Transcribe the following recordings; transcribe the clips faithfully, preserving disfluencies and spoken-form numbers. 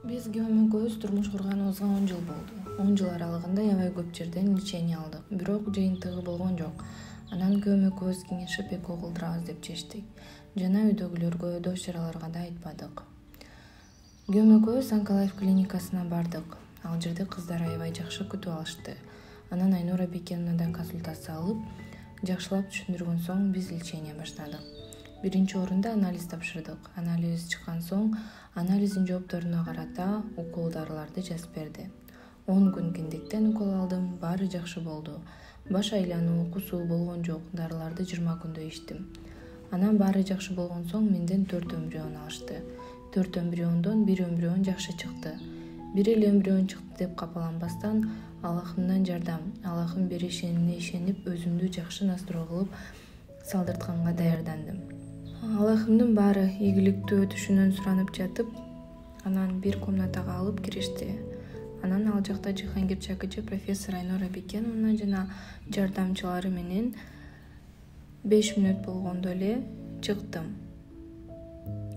Биз күйөөм экөөбүз турмуш курганыбызга он жыл болду. он жыл аралыгында аябай көп жерден лечение алдык, бирок жыйынтыгы болгон жок. Анан күйөөм экөөбүз кеңешип эки окуу кылдырабыз деп чечтик. Жана үйдөгүлөргө, дос-жараларга да айтпадык. Күйөөм экөөбүз Онколайф клиникасына бардык. Ал жерде кыздар аябай жакшы күтүп алышты. Анан Айнура Бекеновнадан консультация алып, жакшылап түшүндүргөн соң биз лечение баштадык. Биринчи орунда анализ тапшырдык. Анализ чыккан соң анализдин жоопторуна карата укол дарыларды жазып берди. он күн киндиктен укол алдым, баары жакшы болду. Баш айлануу, кусуу болгон жок, дарыларды жыйырма күндө ичтим. Анан баары жакшы болгон соң менден төрт эмбрион алышты. төрт эмбриондон бир эмбрион жакшы чыкты. Бир эле эмбрион чыкты деп капаланбастан, Аллахымдан жардам, Аллахым беришине ишенип, өзүмдү жакшы настрой кылып, салдыртканга даярдандым. Аллахымдын баары ийгиликтүү өтүшүнөн суранып жатып, анан бир комнатага алып киришти. Анан ал жакта Жихангир Чакычы, профессор Айнура Бекеновна жана жардамчылары менен беш мүнөт болгондо эле чыктым.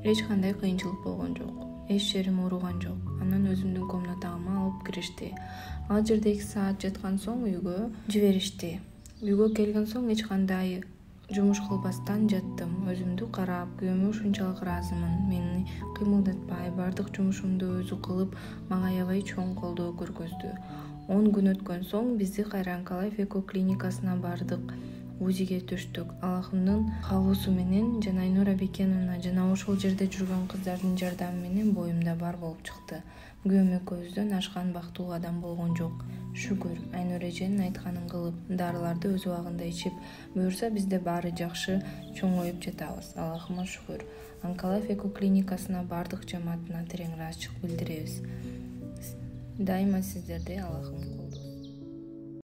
Эч кандай кыйынчылык болгон жок. Эч жерим ооруган жок. Анан өзүмдүн комнатама алып киришти. Ал жерде эки саат жаткан соң үйгө жиберишти. Үйгө келген соң эч кандай жумуш кылбастан жаттым. Өзүмдү карап, күйөөмө ушунчалык ыраазымын. Мени кыймылдатпай, бардык жумушумду өзү кылып, мага аябай чоң колдоо көргөздү. он күн өткөн соң бизди кайра Онколайф эко клиникасына бардык. УЗИге түштүк. Аллахымдын каалоосу менен жана Айнура Бекеновна жана ошол жерде жүргөн кыздардын жардамы менен боюмда бар болуп чыкты. Күйөөм экөөбүздөн ашкан бактылуу адам болгон жок. Шүгүр, Айнура эженин айтканын кылып, дарыларды өз убагында ичип, буюрса бизде баары жакшы чоңоюп жатабыз. Аллахыма шүгүр. Онколайф эко клиникасына бардык жамаатына терең ыраазычылык билдиребиз. Дайыма сиздерди Аллахым колдойт.